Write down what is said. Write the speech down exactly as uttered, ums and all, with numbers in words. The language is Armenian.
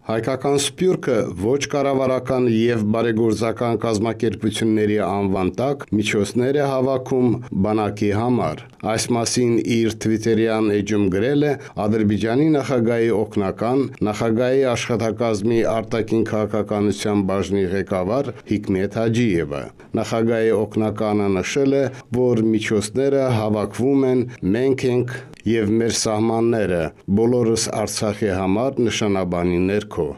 Հայկական սփյուռքը ոչ կառավարական եւ բարեգործական կազմակերպությունների անվան տակ միջոցներ է հավաքում բանակի համար։ Այս մասին իր թվիտերյան էջում գրել է Ադրբեջանի նախագահի օգնական, նախագահի աշխատակազմի արտաքին քաղաքականության բաժնի ղեկավար Հիկմեթ Հաջիևը։ Նախագահի օգնականը նշել է, որ միջոցները հավաքվում են «Մենք ենք եւ մեր սահմանները, բոլորս Արցախի համար» նշանաբանի ներքո։